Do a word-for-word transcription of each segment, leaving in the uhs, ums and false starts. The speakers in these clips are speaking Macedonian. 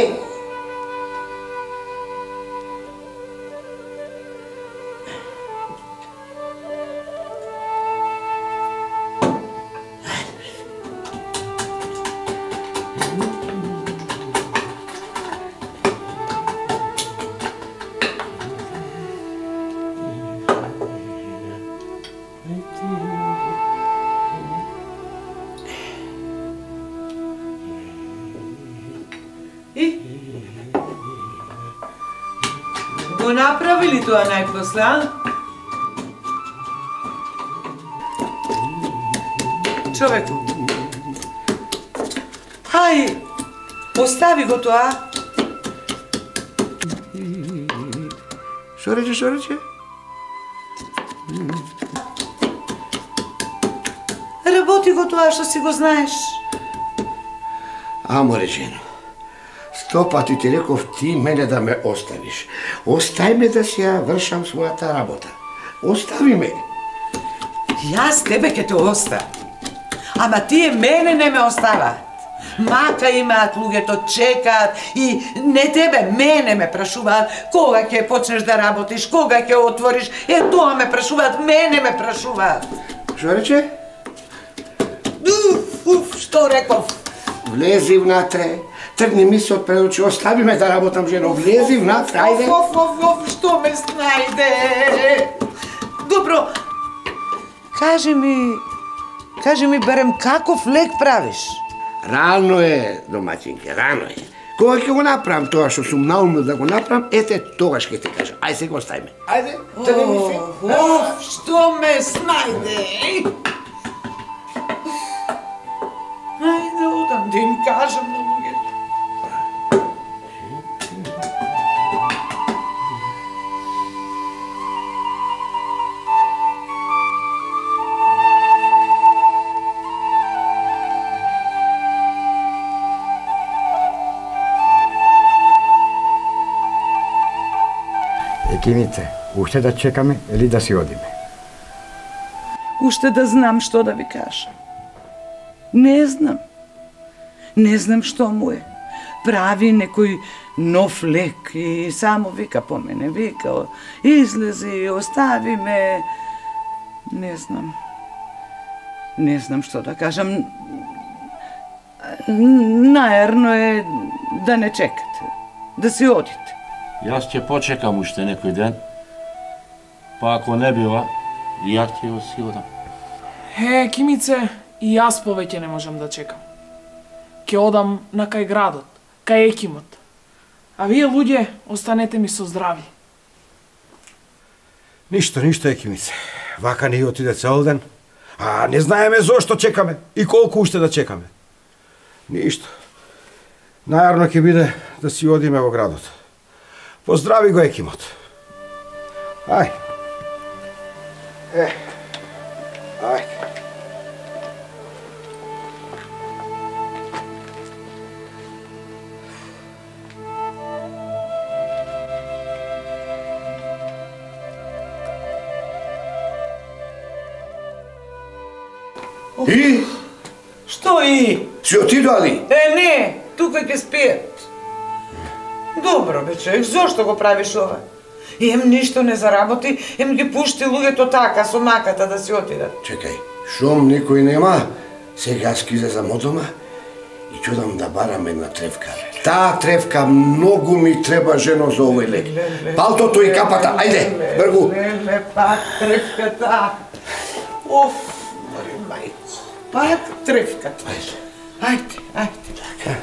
Ајде. Го направили тоа најпосле, а? Човеку. Ај, остави го тоа. Шо рече, шо рече? Работи го тоа што си го знаеш. Амо речено. Сто пати ти реков ти мене да ме оставиш. Остави ме да си ја вршам својата работа. Остави ме. Јас тебе ке те оставам. Ама тие мене не ме оставаат. Мака имаат луѓето, чекаат и не тебе, мене ме прашуваат кога ќе почнеш да работиш, кога ќе отвориш. Е, тоа ме прашуваат, мене ме прашуваат. Шо рече? Уф, уф, што реков? Влези внатре. Тргни ми се од пред очи, остави ме да работам, жено, влези внатре, ајде. Оф, оф, оф, што ме снајде? Добро, кажи ми, кажи ми барем каков лек правиш? Рано е, домаќинке, рано е. Кога ќе го направам тоа што сум наумил да го направам, ете, тогаш ќе те кажам. Ајде се го остави ме. Ајде, тргни ми се. Оф, што ме снајде? Ајде, одам да им кажам на луѓето. Екимице, уште да чекаме или да си одиме? Уште да знам што да ви кажам. Не знам. Не знам што му е. Прави некој нов лек и само вика по мене, вика, излези, остави ме. Не знам. Не знам што да кажам. Наерно е да не чекате, да си одите. Јас ќе почекам уште некој ден, па ако не бива, и јас ќе го си одам. Е, Кимице, и јас повеќе не можам да чекам. Ќе одам на кај градот, кај Екимот. А вие луѓе, останете ми со здрави. Ништо, ништо, Екимице. Вака ни отиде цел ден, а не знаеме зошто чекаме и колку уште да чекаме. Ништо. Најарно ќе биде да си одиме во градот. Поздрави го Екимот. Ај. Е. Ај. И? Што и? Си отидоали? Е, не, тука ќе спијат. Добро, бе, човек, зошто го правиш ова? Ем ништо не заработи, ем ги пушти луѓето така со маката да си отидат. Чекај, шом никој нема, сега скизлезам од дома и чудам да барам една тревка. Таа тревка многу ми треба, жено, за овој лек. Палтото и капата, ајде, бргу. Леле, пак тревката. Оф, мори мајко, пак тревката. Ајде, ајде. Така.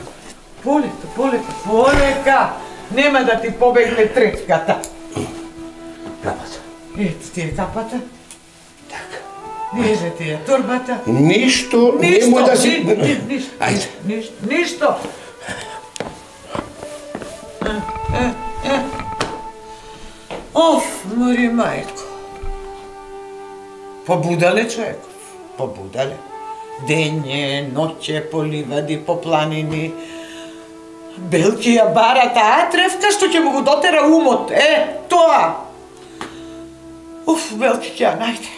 Полека, полека, полека. Нема да ти побегне тревката. Капата. Ето ти е капата. Така. Езе ти е турбата. Ништо, Ништо, немој да си... ни- ни- ништо, Ајде. ништо, ништо. Е, е, е. Оф, мори мајко. Побудале човеков, побудале. Дење, ноќе, по ливади, по планини. Белки ја бара таа тревка што ќе му го дотера умот. Е, тоа. Уф, Белки ќе ја најде.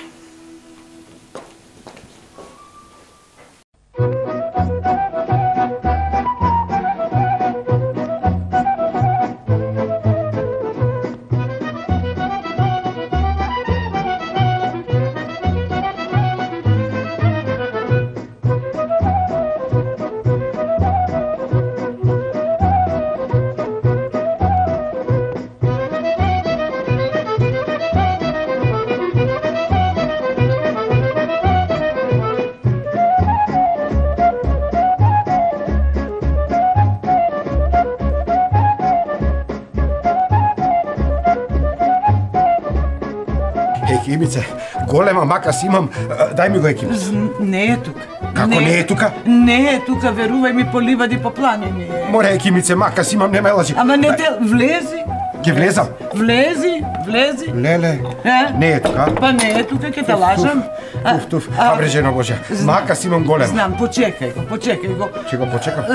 Екимице, голема мака си имам, дај ми го Екимице. Не е тука. Како не е тука? Не е тука, верувај ми, по ливади, по планини е. Море Екимице, мака си имам, не ме лажи. Ама не те, влези. Ке влезам? Влези, влези. Леле, Е? не е тука? Па не е тука, ке те лажам. Туф, туф, абре жено Божја, мака си имам голема. Знам, почекај го, почекај го. Ќе го почекам?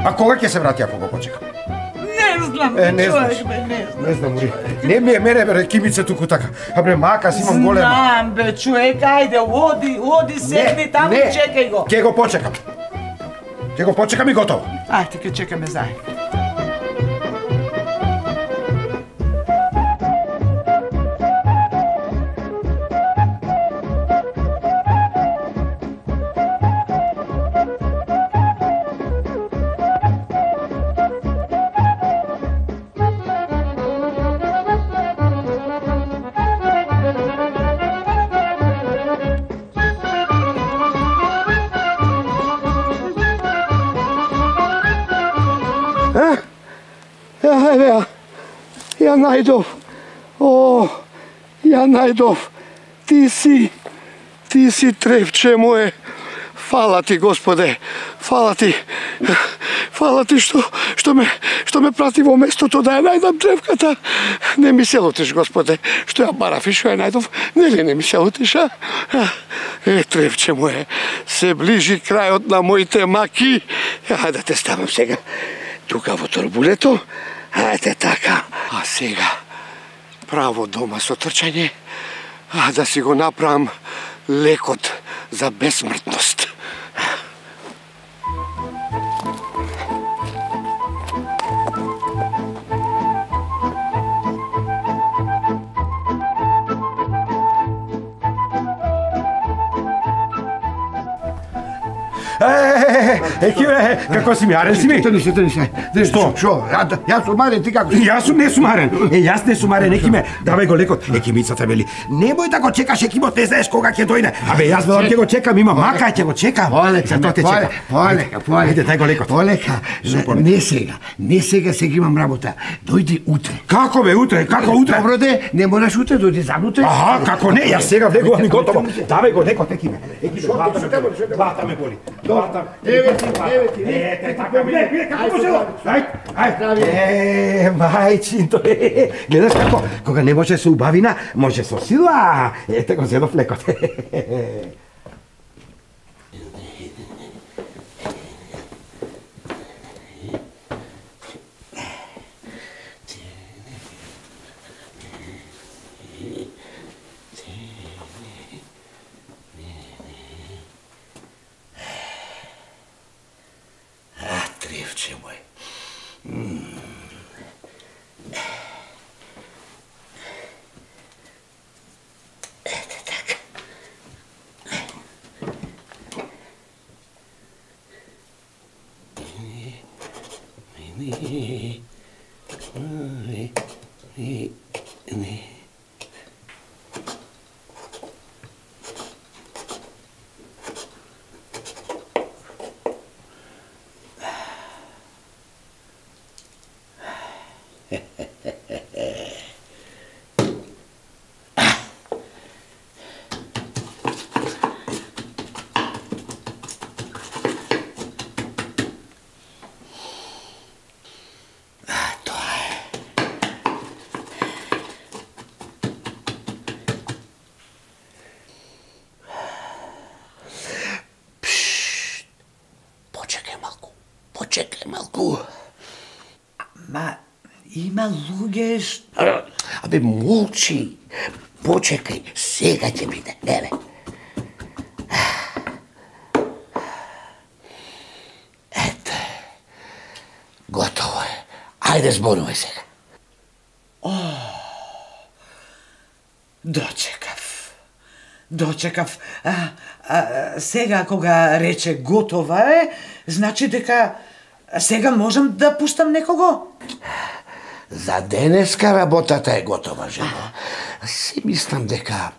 А кога ќе се врати ако го почекам? Не знам, Е, не човек, знаш. бе, не знам. Не знам, Ури. Не ми е мене, бе, Кимице, туку така. А бре, мака си имам голема. Знам, бе, човек, ајде, оди, оди, седни таму, чекај го. Ке го почекам. Ке го почекам и готово. Ајде, ке чекаме заедно. Еве ја, ја најдов. О, ја најдов. Ти си, ти си тревче мое. Фала ти, Господе. Фала ти. Фала ти што што ме што ме прати во местото да ја најдам тревката. Не ми се лутиш, Господе, што ја барав и што ја најдов. Нели не ми се лутиш, а? Е, тревче мое, се ближи крајот на моите маки. Ја да те ставам сега тука во торбулето. Ајде така. А сега право дома со трчање, а да си го направам лекот за безсмртност. Екиме, како си ми, арен си ми? Трни се, трни се. Што? Шо? Јас сум арен, ти како си? Јас сум не сумарен. Е, јас не сумарен, Екиме. Давај го лекот. Екимицата вели, немој да го чекаш, Екимот, не знаеш кога ќе дојде. Абе, јас велам ќе го чекам, има мака, ќе го чекам. Полека, Зато те чекам. полека, полека. Ајде, дај го лекот. Полека. Не сега, не сега, сега имам работа. Дојди утре. Како бе, утре, како утре? Добро де, не мораш утре, дојди занутре. Аха, како не, јас сега влегувам и готово. Давај го лекот, Екиме. Екиме, главата ме боли. Главата. Еве ти, еве ти. Ете, така ми, не, како може да? Ај, ај. Е, мајчинто, е, гледаш како, кога не може со убавина, може со сила. Ете го зедов лекот. Тревче мой. Ете така. Почекај малку. Ма, има луѓе што... Абе, молчи. Почекај, сега ќе биде. Еве. Хајде, зборувај сега. Дочекав. Дочекав. А, а, сега кога рече готова е, значи дека сега можам да пуштам некого? За денеска работата е готова, жено. Си мислам дека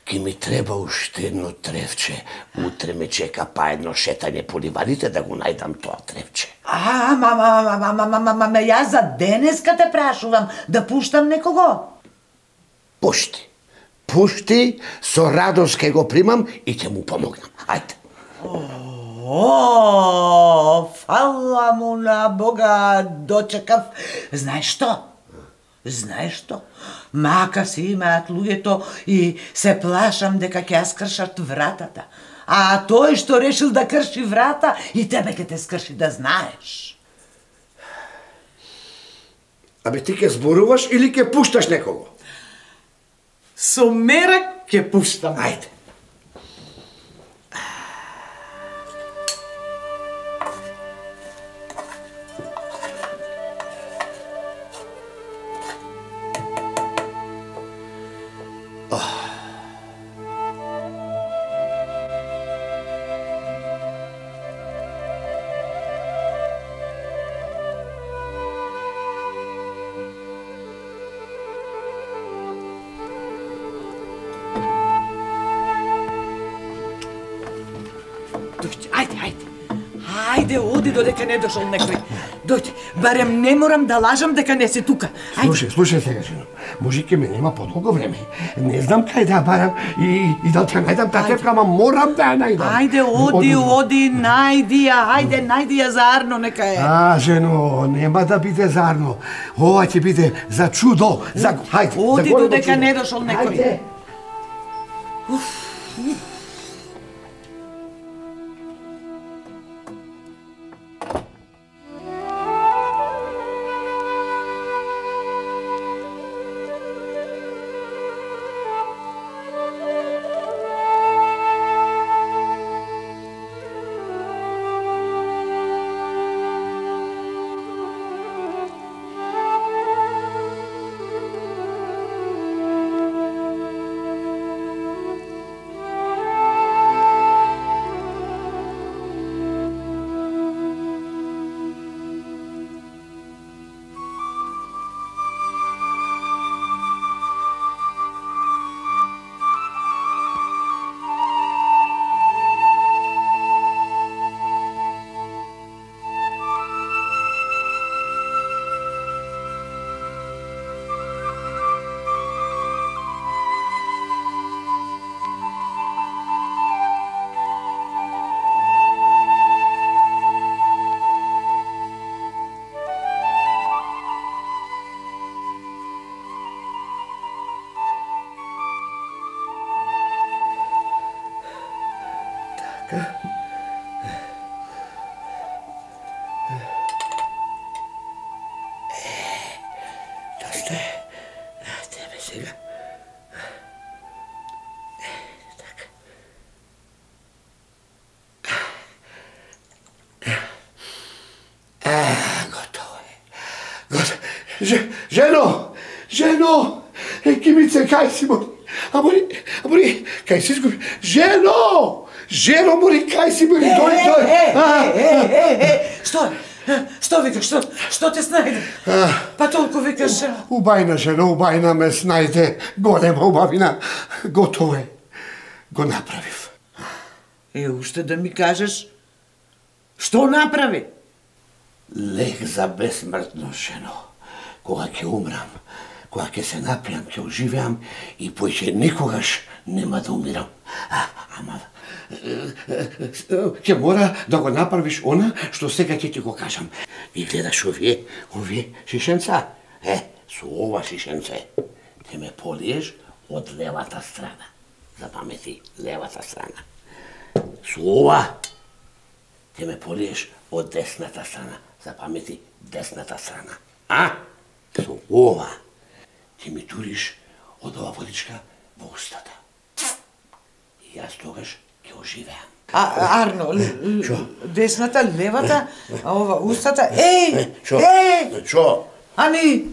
ки ми треба уште едно тревче. Утре ме чека па едно шетање по ливадите да го најдам тоа тревче. А, ма, ма, ма, ма, ма, ма, ма, ма, јас за денеска те прашувам да пуштам некого. Пушти. Пушти, со радост ке го примам и ќе му помогнам. Ајде. О, фала му на Бога, дочекав. Знаеш што? Знаеш што? Мака си имаат луѓето и се плашам дека ќе ја скршат вратата. А тој што решил да крши врата и тебе ќе те скрши, да знаеш. Абе ти ќе зборуваш или ќе пушташ некого? Со мерак ќе пуштам. Ајде. Дојди, ајде, ајде. Ајде, оди додека не дошол некој. Дојди, барем не морам да лажам дека не си тука. Ајде. Слушај, слушај сега, жено. Може ке ме нема подолго време. Не знам кај да ја барам и, и да ќе најдам таа тревка, ама морам да ја најдам. Ајде, оди, оди, најди ја, ајде, најди ја за Арно, нека е. А, жено, нема да биде за Арно. Ова ќе биде за чудо, за... Хајде, Оди за големо додека чудо. не дошол некој. Хајде. Доста е. Тебе сега. Така. Готово е. Готово. Ж, жено! Жено! Е, Кимице, кај си мори? А мори, а мори, кај си изгуби? Жено! Жено, мори, кај си мори? Дојди, дојди! Е, е, е, е, е, што? Што викаш, што? Што те снајде? Па толку викаш... Убајна, жено, убајна ме снајде. Голема убавина. Готово е. Го направив. Е, уште да ми кажеш, што направи? Лек за безсмртно, жено. Кога ќе умрам, кога ќе се напијам, ќе оживеам и поќе никогаш нема да умирам. А, ама, ќе мора да го направиш она што сега ќе ти го кажам. И гледаш овие, овие шишенца. Е, со ова шишенце ќе ме полиеш од левата страна. Запамети, левата страна. Со ова ќе ме полиеш од десната страна. Запамети, десната страна. А? Со ова ќе ми туриш од ова водичка во устата. И јас тогаш ќе оживеам. А, Арно, Шо? десната, левата, а ова устата, еј, Шо? еј! Шо? Ами,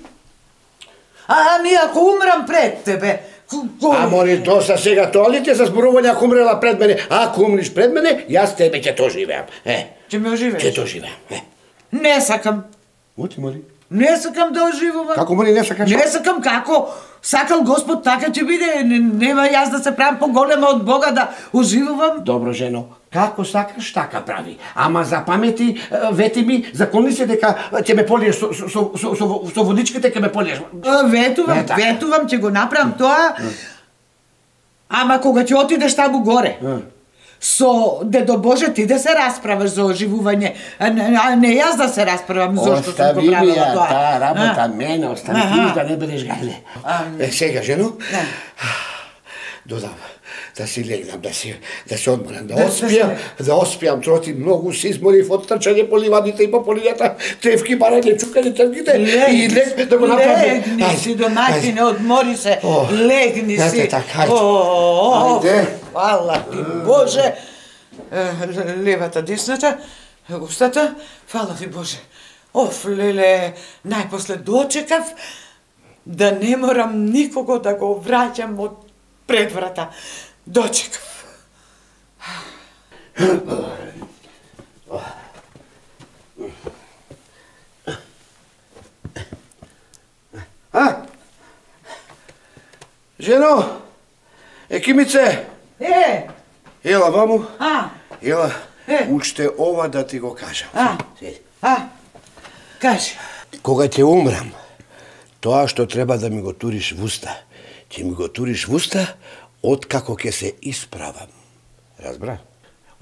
ами ако умрам пред тебе, Ама ни доста сега тоа ли те за зборување ако умрела пред мене, ако умриш пред мене, јас тебе ќе то живеам. Е. Ќе ме оживееш? Ќе то живеам. Е. Не сакам. Оти мори. Не сакам да оживувам. Како мори не сакаш? Не сакам како. Сакал Господ така ќе биде. Нема јас да се правам поголема од Бога да оживувам. Добро, жено. Како сакаш, така прави. Ама за памети, вети ми, закони се дека ќе ме полиеш со, со, со, со, со, со водичките, ќе ме полиеш. Ветувам, ветувам, ќе го направам тоа. Ама кога ќе отидеш таму горе, со Дедо Боже ти да се расправаш за оживување, а не, а не јас да се расправам зошто сум го правила тоа. Остави ми ја таа работа мене, остави ти да не бидеш гајле. Е, сега, жено, додам да си легнам, да си да се одморам, да оспијам, да оспијам, троти многу се изморив од трчање по ливадите и по полињата, тревки, барање, чукање, тргите и лег да го направам. Легни си, домаќине, одмори се, легни си. Ете така, ајде. Ајде. Фала ти, Боже. Левата, десната, устата, фала ти, Боже. Оф, леле, најпосле дочекав да не морам никого да го враќам од пред врата. Дочекав. А? Жено, екимице, Е, ела ваму, а, ела, Е. уште ова да ти го кажам. а, а, кажи. Кога ќе умрам, тоа што треба да ми го туриш в уста, ќе ми го туриш в уста откако ќе се исправам. Разбра?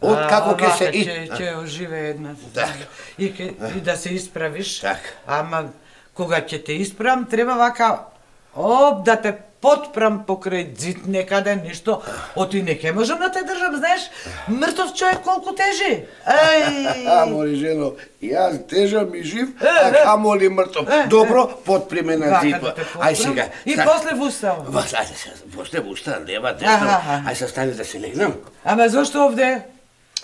Откако ќе се и... Ќе, ќе оживе една. Така. И, ке, и да се исправиш. Така. Ама кога ќе те исправам, треба вака оп да те потпрам покрај зид некаде нешто. Оти не ќе можам да те држам, знаеш? Мртов човек колку тежи. Ај. Амори, жено, јас тежам и жив, а камоли мртов. Добро, потпри ме на зид. Ај сега. И после в уста. Вас, ајде сега, после в уста, лева, десна. Ај се стани да се легнам. Ама зошто овде?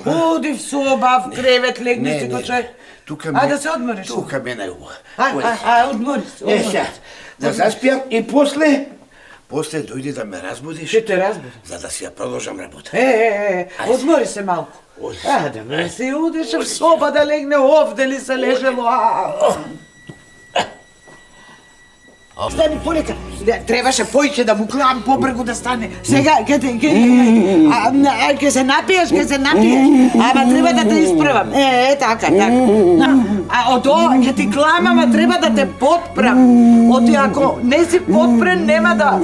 Оди в соба, в кревет, легни си кој човек. Тука А да се одмориш. Тука ме најубаво. Ај, ај, ај, одмори се. Е, сега, да заспијам и после, после дојди да ме разбудиш. Ќе те разбудам. За да си ја продолжам работа. Е, е, е, одмори се малку. А, да ме се удиш в соба да легне овде ли се лежело, а. Стани полека. Требаше поиќе да му клам побргу да стане. Сега ке те ке а ке се напиеш, ке се напиеш. Ама треба да те исправам. Е, е така, така. А од тоа ке ти клам, ама треба да те потпрам. Оти ако не си потпрен, нема да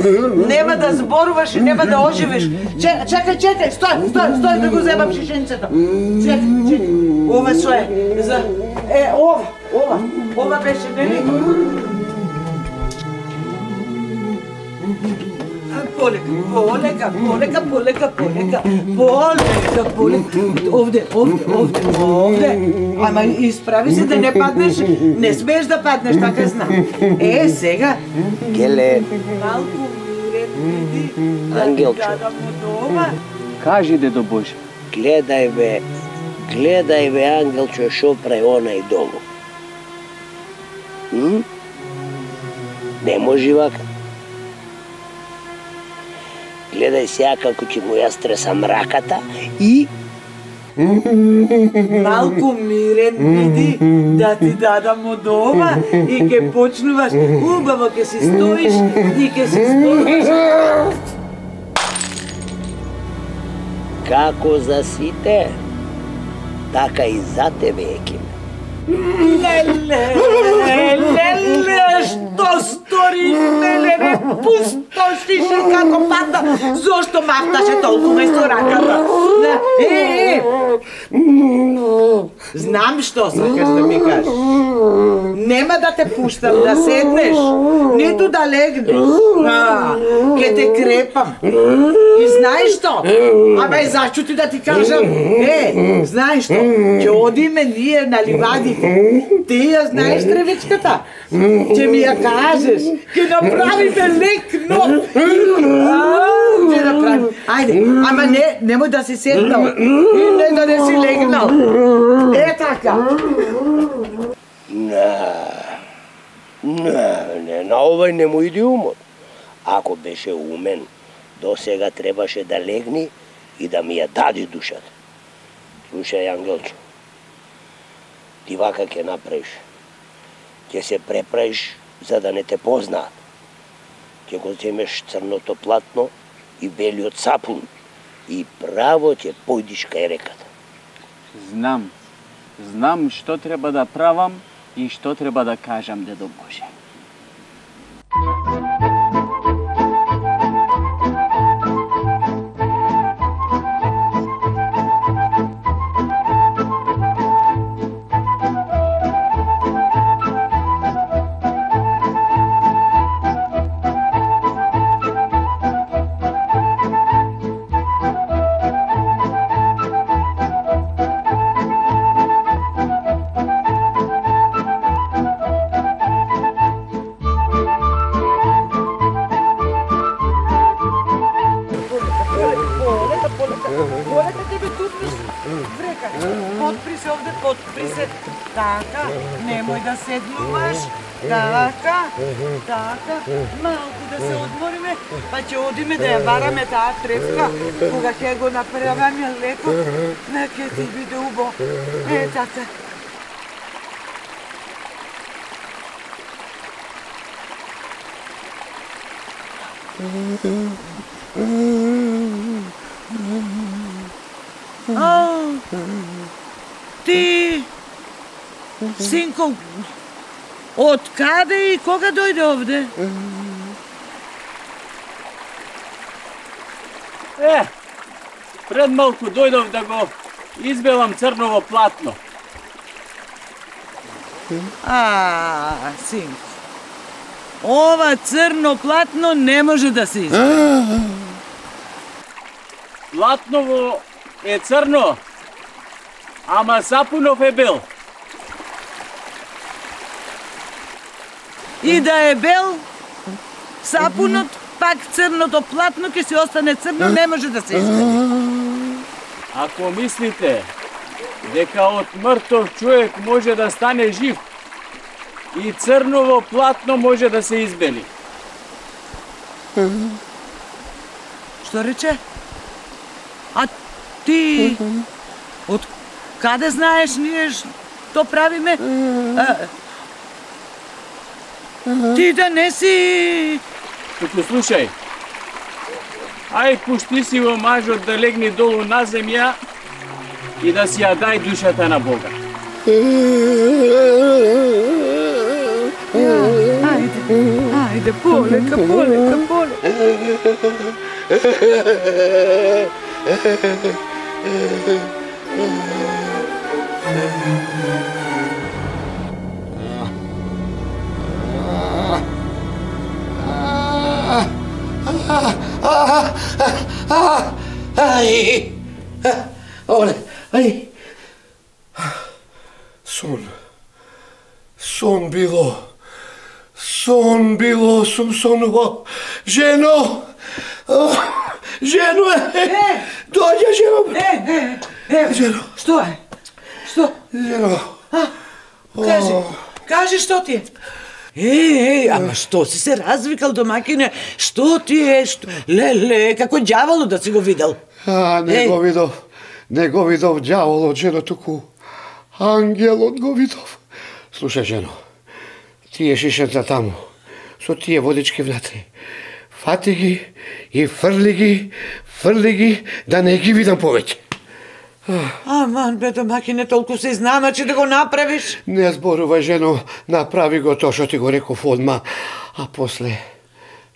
нема да зборуваш и нема да оживеш. Чекај, чекај, стој, стој, стој да го земам шишенцето. Чекај, чекај. Ова што е? За е ова, ова, ова беше нели? Полека, полека, полека, полека, полека, полека, полека. Овде, овде, овде, овде. Ама исправи се да не паднеш, не смееш да паднеш, така знам. Е, сега. Геле, Малку мирет, Ангелчо. да му дома. кажи Дедо Боже. Гледај бе, гледај бе, Ангелчо, шо прави онај долу. М? Не може вака. Гледај сега како ќе му ја стресам раката и... Малку мирен биди, да ти дадам од ова и ке почнуваш, убаво ке си стоиш и ке си зборуваш. Како за сите, така и за тебе, Екиме. Леле, леле, што стори, леле, не пустошише како падна, зошто мафташе толку место раката? Е, е, знам што сакаш да ми кажеш. Нема да те пуштам да седнеш, ниту да легнеш. А, ке те крепам. И знаеш што? Абе, зашто ти да ти кажам? Е, знаеш што? Ќе одиме ние на ливадите. Ти ја знаеш тревичката? Ќе ми ја кажеш. Ќе направиме лек нов. Ќе направи. Ајде, ама не, немој да си седнал. И не да не си легнал. Е така. На, Не, не, на овај не му иди умот. Ако беше умен, до сега требаше да легни и да ми ја дади душата. Слушај, Ангелчо, ти вака ќе направиш. Ќе се препраиш за да не те познаат. Ќе го земеш црното платно и белиот сапун и право ќе појдиш кај реката. Знам. Знам што треба да правам и што треба да кажам, дедо Боже. Potpri se ovde, potpri se. Така, немој да седнуваш. Така, така. Малку да се одмориме, па ќе одиме да ја бараме таа тревка. Кога ќе го направиме леко, на ќе ти биде убо. Е, така. А, ти, синко, од каде и кога дојде овде? Е, пред малку дојдов да го избелам црново платно. А, синко, ова црно платно не може да се избере. Платново е црно, ама сапунов е бел. И да е бел, сапунот, пак црното платно ќе се остане црно, не може да се избере. Ако мислите дека од мртов човек може да стане жив, и црново платно може да се избели. Што рече? А ти од каде знаеш ние што правиме? А, ти да не си... Туку слушај, ај пушти си во мажот да легни долу на земја и да си ја дај душата на Бога. Ајде, ајде, полека, полека, полека. Ај, оле, ај. Сон, сон било, сон било, сум сонувал. Жено, жено е, дојде жено. Е, е, е, Жено. што е? Што? Жено. Кажи, кажи што ти е? Е, е, ама што си се развикал, домакине? Што ти е? Што? Леле, како ѓаволо да си го видел. А, не Еј. го видов, не го видов ѓаволот, жено, туку ангелот го видов. Слушај, жено, тие шишенца таму, со тие водички внатре, фати ги и фрли ги, фрли ги, да не ги видам повеќе. Аман, бе, домакине, толку се изнамачи да го направиш. Не зборувај, жено, направи го тоа што ти го реков одма, а после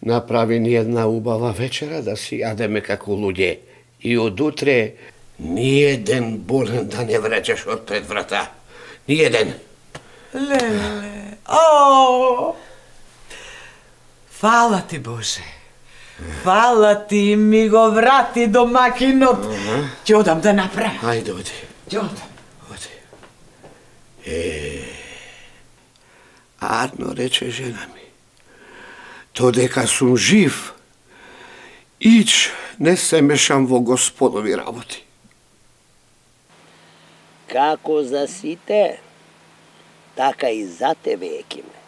направи ни една убава вечера да си јадеме како луѓе. И од утре ниеден болен да не врачаш од пред врата. Ниеден. Леле, о! Фала ти, Боже. Фала ти, ми го врати домакинот. Ќе одам да направам. Ајде, оди. Ќе одам. Оди. Е, Арно рече жена ми, додека сум жив, ич не се мешам во господови работи. Како за сите, така и за тебе, Екиме.